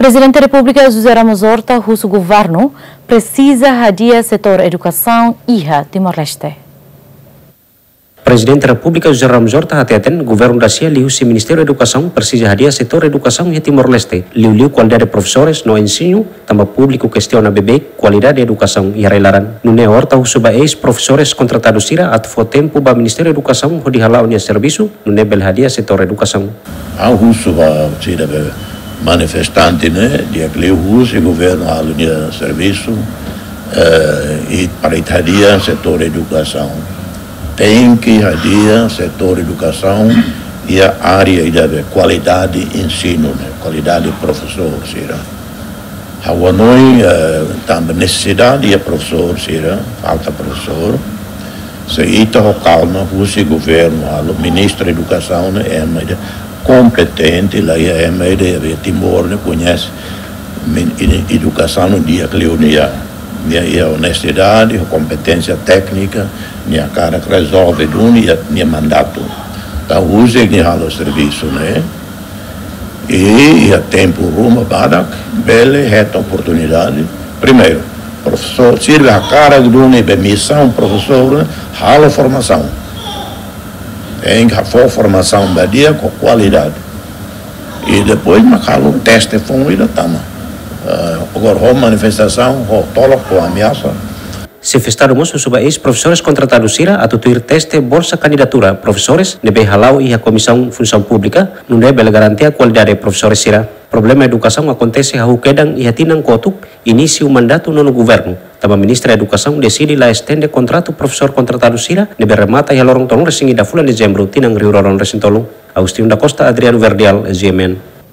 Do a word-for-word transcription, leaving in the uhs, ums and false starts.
Prezidente Repúblika José Ramos Horta husu governu presiza hadi'a setór edukasaun iha Timor-Leste. Prezidente Repúblika José Ramos Horta hateten, governu rasik liuhusi Ministériu Edukasaun presiza hadi'a setór edukasaun iha Timor-Leste, liuliu kualidade profesores no ensinu, tanba públiku kestiona beibeik kualidade edukasaun iha rai-laran. Nune'e Horta husu ba eis-profesores kontratadu sira atu fó tempu ba Ministériu Edukasaun hodi hala'o nia servisu, nune'e bele hadi'a setór edukasaun. Ha'u husu ba sira be manifestante ne'e, di'ak liu husi governu halo nia servisu, eh, i para ita hadi'a setór edukasaun. Tenke hadi'a setór edukasaun iha área ida be kualidade ensinu ne'e, kualidade profesór sira. Ha'u hanoin, eh, tanba nesesidade iha profesór sira, falta profesór. Se ita ho kalma, husi governu halo, ministru edukasaun ne'e ema ida kompetente, la iha ema ida iha Timor ne'e koñese min-, ed-, edukasaun ne'e di'ak liu nia, nia iha onestidade, ho kompeténsia téknika, nia hakarak rezolve duni iha nia mandatu. Entaun husi nia halo servisu ne'e, i iha tempu ruma badak, bele hetan oportunidade. Primeiru, profesór, sira be hakarak duni be misaun profesór, halo formasaun. Tenke fó formasaun ba di'ak ho kualidade. I depois mak halo teste foun ida tama. Eh, agora ho manifestasaun, ho tolok, ho ameasa. Xefe Estadu mós husu ba eis-profesores kontratadu sira atu tuir teste bolsa kandidatura profesores ne'ebé hala'o iha Komisaun Funsaun Públika, nune'e bele garantia kualidade profesores sira. Problema edukasaun akontese hahú kedan iha tinan kotuk inísiu mandatu nonu governu, tanba Ministra Edukasaun deside la estende kontratu profesór kontratadu sira ne'ebé remata iha loron tolunulu-resin-ida fulan Dezembru tinan rihun rua ruanulu-resin-tolu. Agostinho da Costa, Adriano Verdial, G M N.